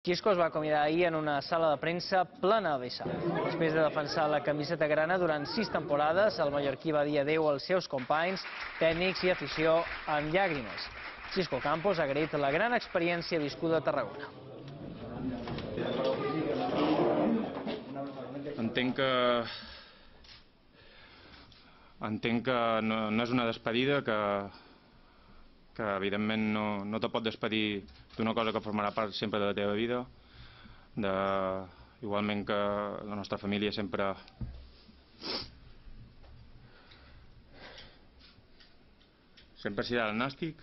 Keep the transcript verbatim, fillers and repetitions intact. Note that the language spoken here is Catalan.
Xisco es va acomiadar ahir en una sala de premsa plena de vessar. Després de defensar la camiseta grana durant sis temporades, el mallorquí va dir adeu als seus companys, tècnics i afició amb llàgrimes. Xisco Campos ha agraït la gran experiència viscuda a Tarragona. Entenc que... Entenc que no, no és una despedida, que, que evidentment no, no te pot despedir d'una cosa que formarà part sempre de la teva vida. De, igualment que la nostra família sempre... sempre serà el Nàstic.